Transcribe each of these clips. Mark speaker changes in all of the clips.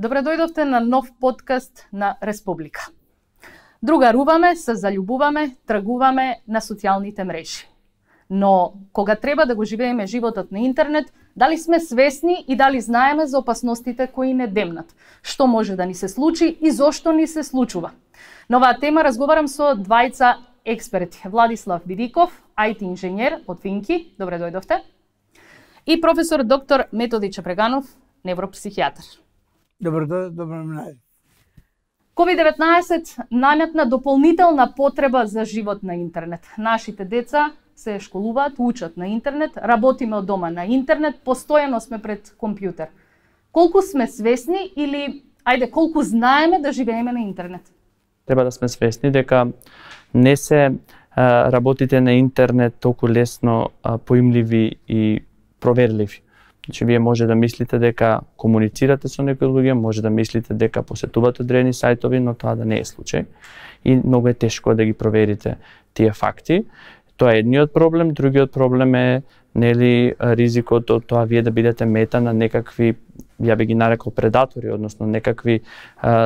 Speaker 1: Добре дојдовте на нов подкаст на Республика. Другаруваме, се заљубуваме, тргуваме на социјалните мрежи. Но кога треба да го живееме животот на интернет, дали сме свесни и дали знаеме за опасностите кои не демнат? Што може да ни се случи и зошто ни се случува? На оваа тема разговарам со двајца експерти. Владислав Бидиков, IT инженер од Финки, добре дојдовте. И професор доктор Методи Чепреганов, невропсихијатар.
Speaker 2: Добро најде.
Speaker 1: COVID-19 наметна дополнителна потреба за живот на интернет. Нашите деца се школуваат, учат на интернет, работиме од дома на интернет, постојано сме пред компјутер. Колку сме свесни или, колку знаеме да живееме на интернет?
Speaker 3: Треба да сме свесни дека не се работите на интернет толку лесно поимливи и проверливи. Значи, вие може да мислите дека комуницирате со некои луѓе, може да мислите дека посетувате одредени сајтови, но тоа да не е случај. И многу е тешко да ги проверите тие факти. Тоа е едниот проблем, другиот проблем е ризикот од тоа вие да бидете мета на некакви, ја би ги нарекол предатори, односно некакви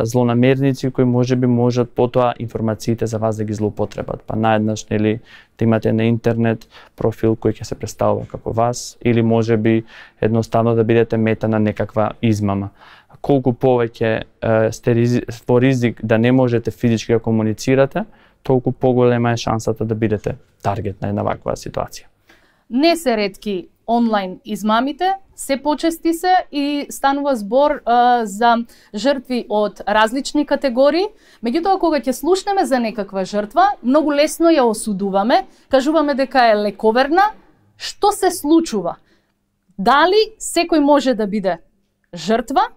Speaker 3: злонамерници кои можат потоа информациите за вас да ги злоупотребат. Па наеднаш да имате на интернет профил кој ќе се представува како вас или можеби едноставно да бидете мета на некаква измама. Колку повеќе сте во ризик да не можете физички да комуницирате, толку поголема е шансата да бидете таргет на една ваква ситуација.
Speaker 1: Не се ретки онлайн измамите, се почести се и станува збор за жртви од различни категории. Меѓутоа, кога ќе слушнеме за некаква жртва, многу лесно ја осудуваме, кажуваме дека е лековерна. Што се случува? Дали секој може да биде жртва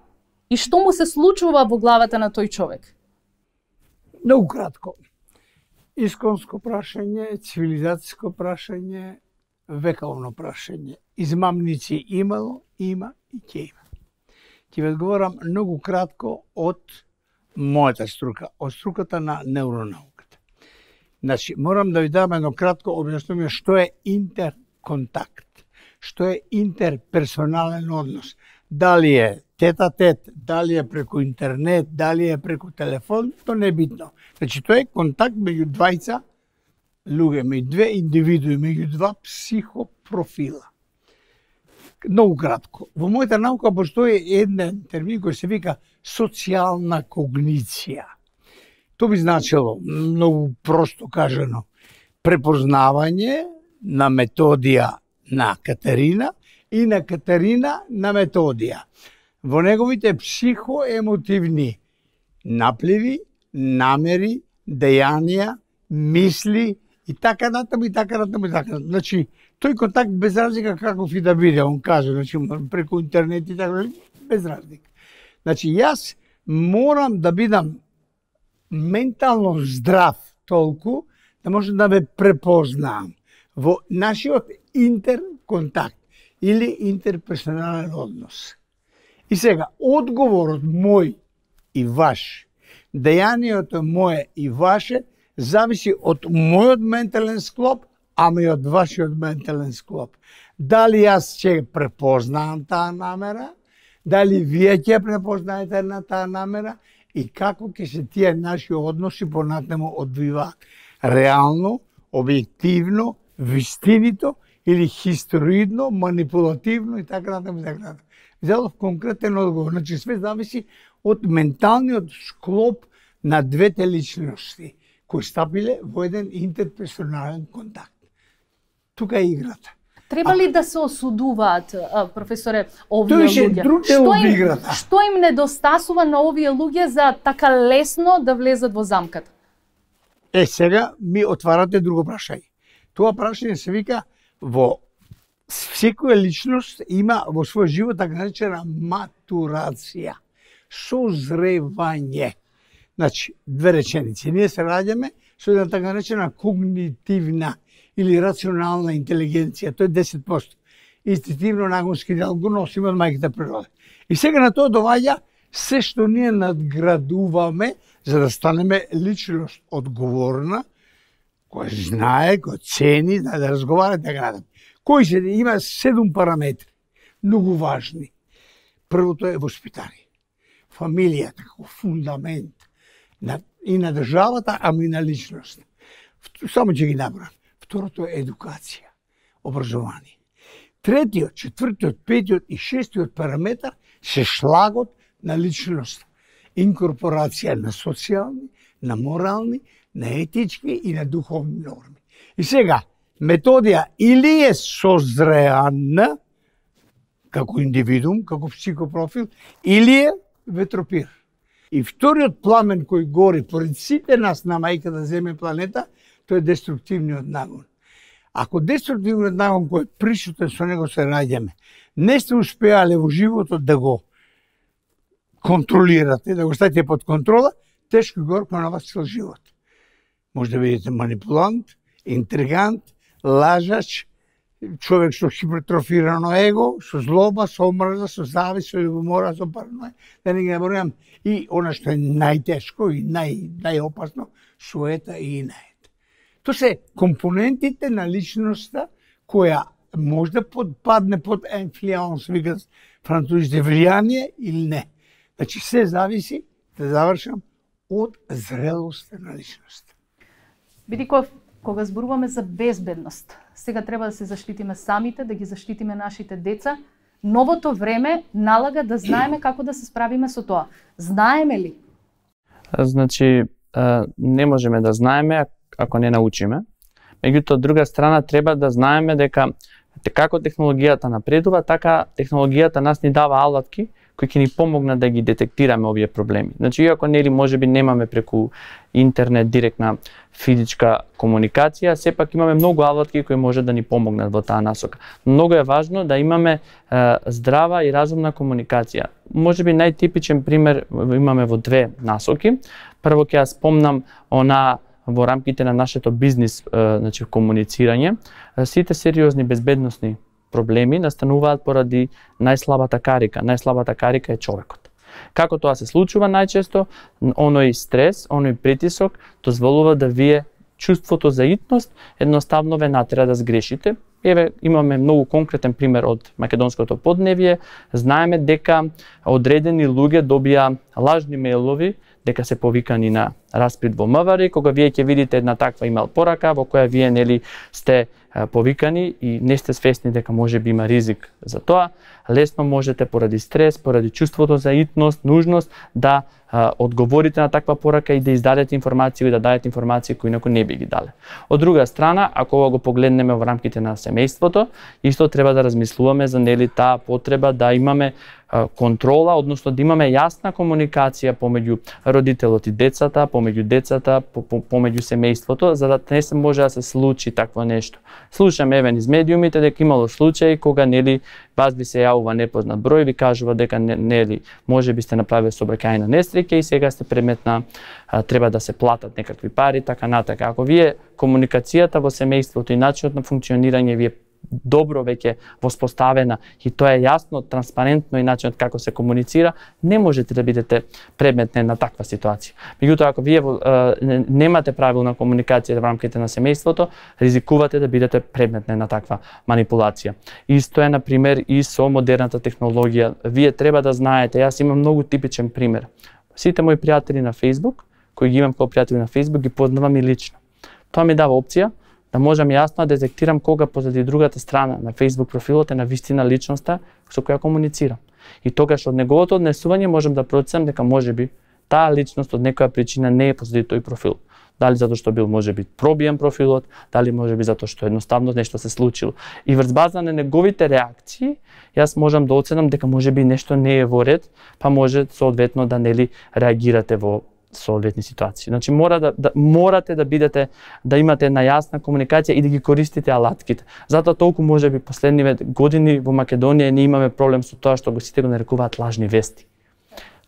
Speaker 1: и што му се случува во главата на тој човек?
Speaker 2: Многу кратко. Исконско прашање, цивилизацијско прашање, вековно прашање. Измамници имало, има и ќе има. Ќе ви одговорам многу кратко од мојата струка, од струката на невронауката. Значи, морам да ви дам едно кратко објаснување што е интерконтакт, што е интерперсонален однос. Дали е тет-а-тет, дали е преку интернет, дали е преку телефон, то не е битно. Значи, тоа е контакт меѓу двајца луѓе, меѓу две индивидуи, меѓу два психопрофила. Многу кратко. Во мојата наука постои еден термин кој се вика социјална когниција. Тоа би значило, многу просто кажано, препознавање на Методија на Катерина и на Катерина на Методија. Во неговите психоемотивни напливи, намери, дејанија, мисли и така натаму и така натаму и така натаму. Значи, тој контакт без разлика каков и да биде, он каже, значи преку интернет и така, без разлика. Значи, јас морам да бидам ментално здрав толку да можам да ме препознам во нашиот интерконтакт или интерперсонален однос. И сега, одговорот мој и ваш, дејанието мое и ваше, зависи од мојот ментален склоп, ама и од вашиот ментален склоп. Дали јас ќе препознаам таа намера, дали вие ќе препознаете на таа намера и како ќе се тие наши односи понатаму одвиваат. Реално, објективно, вистинито или хистоидно, манипулативно и така натаму и така натаму. Дадов конкретен одговор. Значи, све зависи од менталниот склоп на двете личности кои стапиле во еден интерперсонален контакт. Тука е играта.
Speaker 1: Треба ли да се осудуваат, професоре, овие луѓе? Што им недостасува на овие луѓе за така лесно да влезат во замката?
Speaker 2: Сега ми отварате друго прашање. Тоа прашање се вика во секоја личност има во својот живот така наречена матурација, созревање. Значи, две реченици. Ние се раѓаме со една така наречена когнитивна или рационална интелигенција. Тоа е 10%. Инстинктивно нагонски дел го носиме од мајката природа. И сега на тоа доваѓа се што ние надградуваме за да станеме личност одговорна, која знае, која цени, да разговара и така натаму. Кои се има 7 параметри, многу важни. Првото е воспитание. фамилијата како фундамент и на државата, ама и на личност. Само ќе ги набрам. Второто е едукација, образование. Третиот, четвртиот, петиот и шестиот параметар се шлагот на личност. Инкорпорација на социјални, на морални, на етички и на духовни норми. И сега, методија или е созреана како индивидуум, како психопрофил, или е ветропир. И вториот пламен кој гори поред сите нас на мајка да земе планета, тој е деструктивниот нагон. Ако деструктивниот нагон кој е присутен со него се раѓаме, не сте успеале во животот да го контролирате, да го ставите под контрола, тешко горко на вас цел живот. Може да бидете манипулант, интригант, лажач, човек со хипертрофирано его, со злоба, со омрза, со завист, со љубомора, со параноја, да не ги набројам, и она што е најтешко и најопасно, суета и инает. Тоа се компонентите на личноста која може да подпадне под инфлуенс, викат французите, влијание или не. Значи се зависи, да завршам, од зрелоста на личноста.
Speaker 1: Бидејќи кога зборуваме за безбедност, сега треба да се заштитиме самите, да ги заштитиме нашите деца. Новото време налага да знаеме како да се справиме со тоа. Знаеме ли?
Speaker 3: Значи, не можеме да знаеме ако не научиме. Меѓутоа, од друга страна, треба да знаеме дека како технологијата напредува, така технологијата нас ни дава алатки кои ќе ни помогнат да ги детектираме овие проблеми. Значи, иако нели можеби немаме преку интернет директна физичка комуникација, сепак имаме многу алатки кои може да ни помогнат во таа насока. Многу е важно да имаме здрава и разумна комуникација. Можеби најтипичен пример имаме во две насоки. Прво ќе ја спомнам во рамките на нашето бизнис, значи комуницирање, сите сериозни безбедносни проблеми настануваат поради најслабата карика. Најслабата карика е човекот. Како тоа се случува најчесто? Оној стрес, оној притисок дозволува да вие чувството за итност едноставно ве натера да сгрешите. Еве, имаме многу конкретен пример од македонското подневје. Знаеме дека одредени луѓе добија лажни мејлови дека се повикани на распред во МВР, кога вие ќе видите една таква имејл порака во која вие нели сте повикани и не сте свесни дека може би има ризик за тоа, лесно можете поради стрес, поради чувството за итност, нужност да одговорите на таква порака и да издадете информации и да дадете информации кои инаку не би ги дале. Од друга страна, ако ова го погледнеме во рамките на семејството, исто треба да размислуваме за нели таа потреба да имаме контрола, односно да имаме јасна комуникација помеѓу родителот и децата, помеѓу децата, помеѓу семејството, за да не се може да се случи такво нешто. Слушам евен из медиумите дека имало случаи кога нели вас ви се јавува непознат број, ви кажува дека нели можеби сте направили сообраќајна несреќа и сега сте предмет на треба да се платат некакви пари, така натака. Ако вие комуникацијата во семејството и начинот на функционирање ви е добро веќе воспоставена и тоа е јасно, транспарентно и начинот како се комуницира, не можете да бидете предмет на таква ситуација. Меѓутоа, ако вие немате правилна комуникација во рамките на семејството, ризикувате да бидете предмет на таква манипулација. Исто е, на пример, и со модерната технологија. Вие треба да знаете, јас имам многу типичен пример. Сите мои пријатели на Facebook, кои ги имам како пријатели на Facebook, ги познавам и лично. Тоа ми дава опција да можам јасно да детектирам кога позади другата страна на Facebook профилот е на вистина личноста со која комуницирам. И тогаш од неговото однесување можам да проценам дека можеби таа личност од некоја причина не е позади тој профил. Дали затоа што бил можеби пробиен профилот, дали можеби затоа што едноставно нешто се случило. И врз база на неговите реакции, јас можам да оценам дека можеби нешто не е во ред, па може соодветно да нели реагирате во соодветни ситуации. Значи морате да бидете, да имате една јасна комуникација и да ги користите алатките. Затоа толку можеби последниве години во Македонија не имаме проблем со тоа што сите го нарекуваат лажни вести.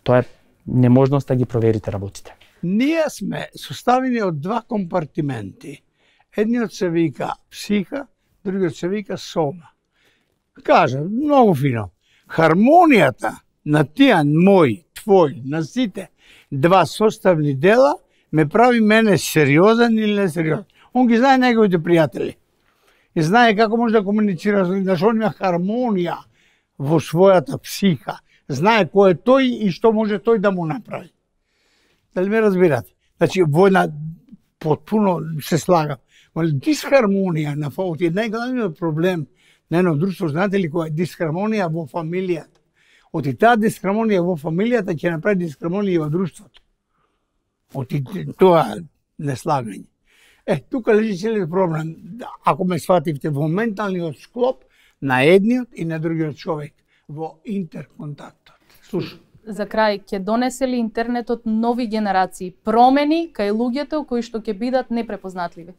Speaker 3: Тоа е неможност да ги проверите работите.
Speaker 2: Ние сме составени од два компартименти. Едниот се вика психа, другиот се вика сома. Кажа, многу фино. Хармонијата на тие мој, твој, на сите два составни дела ме прави мене сериозен или несериозен. Он ги знае неговите пријатели. И знае како може да комуницира, зашто он има хармонија во својата психа, знае кој е тој и што може тој да му направи. Дали ме разбирате? Значи, војна потпуно се слага. Дисхармонија на фаут е најголемиот проблем на едно друштво. Знаете ли која е дисхармонија во фамилијата? Оти таа дисхармонија во фамилијата ќе направи дисхармонија во друштвото. Оти тоа неслагање. Тука лежи целиот проблем. Ако ме свативте во менталниот склоп на едниот и на другиот човек, во интерконтактот. Слушам.
Speaker 1: За крај, ќе донесе ли интернетот нови генерации, промени кај луѓето кои што ќе бидат непрепознатливи?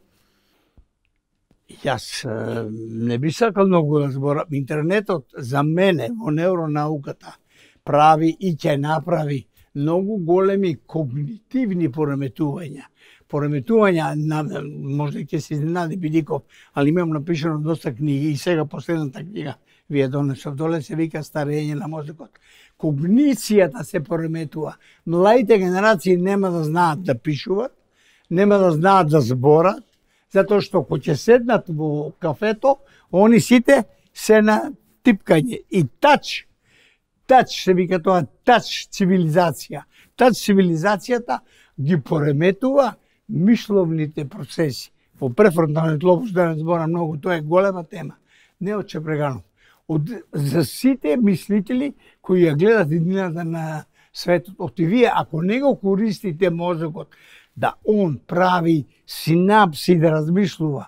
Speaker 2: Јас не би сакал многу да зборам. Интернетот за мене во невронауката прави и ќе направи многу големи когнитивни пореметувања. Пореметувања, можда ќе се изненади Бидиков, али имам напишано доста книги и сега последната книга вие донесов доле се вика Старење на мозокот. Когницијата се пореметува. Младите генерации нема да знаат да пишуват, нема да знаат да зборат, затоа што кога ќе седнат во кафето, они сите се на типкање и тач се вика тоа тач цивилизација. Тач цивилизацијата ги пореметува мисловните процеси. Во префронталниот лобус да не зборам многу, тоа е голема тема. Не од Чепреганов. За сите мислители кои ја гледат иднината на светот, оти вие ако не го користите мозокот да он прави синапси да размислува,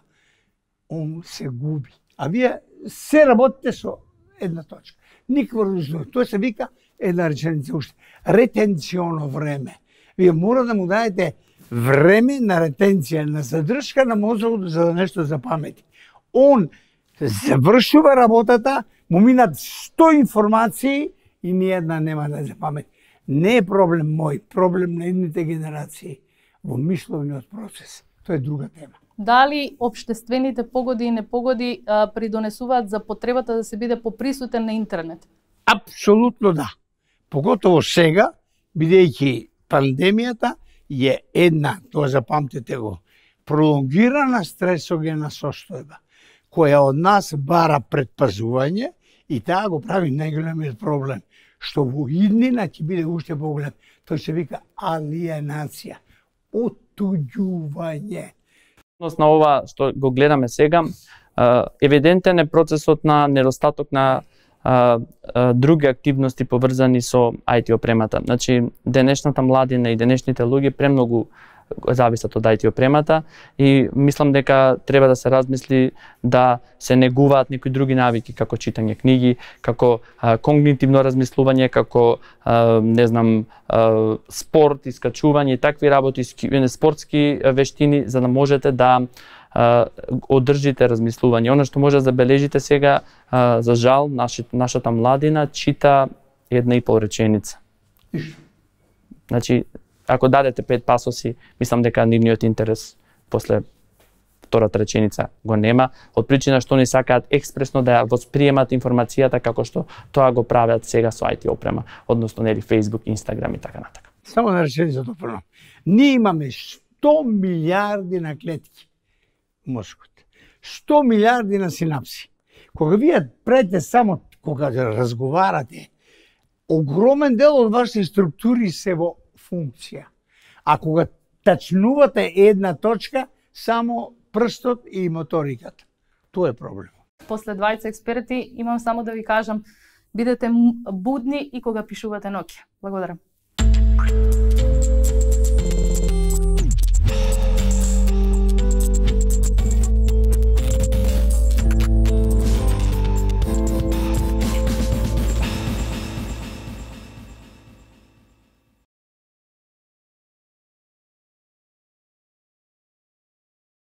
Speaker 2: он се губи. А вие се работите со една точка. Никакво размислување. Тоа се вика една реченица уште. Ретенционо време. Вие мора да му дадете време на ретенција, на задршка на мозокот за да нешто запамети. Он завршува работата, му минат 100 информации и ниједна нема да запамети. Не е проблем мој, проблем на едните генерации во мисловниот процес. Тоа е друга тема.
Speaker 1: Дали општествените погоди и непогоди придонесуваат за потребата да се биде поприсутен на интернет?
Speaker 2: Апсолутно да. Поготово сега, бидејќи пандемијата е една, тоа запамтете го, пролонгирана стресогена состојба, која од нас бара предпазување и таа го прави најголемиот проблем, што во иднина ќе биде уште поголем. Тоа се вика алиенација, отуѓување.
Speaker 3: На ова што го гледаме сега, евидентен е процесот на недостаток на други активности поврзани со IT опремата. Значи, денешната младина и денешните луѓе премногу зависат од IT опремата и мислам дека треба да се размисли да се негуваат некои други навики како читање книги, како когнитивно размислување, како не знам спорт, искачување и такви работи, спортски вештини за да можете да одржите размислување. Она што може да забележите сега, за жал, нашата младина чита 1,5 реченица. Значи, ако дадете 5 пасоси, мислам дека нивниот интерес после втората реченица го нема, од причина што не сакаат експресно да ја восприемат информацијата како што тоа го прават сега со IT опрема, односно нели Facebook, Instagram и така натака.
Speaker 2: Само на реченица допрно. Ние имаме 100 милиарди на клетки мозокот. 100 милиарди на синапси. Кога вие правите само, кога разговарате, огромен дел од вашите структури се во функција. А кога тачнувате една точка, само прстот и моториката. Тоа е проблем.
Speaker 1: После 20 експерти имам само да ви кажам, бидете будни и кога пишувате ноќе. Благодарам.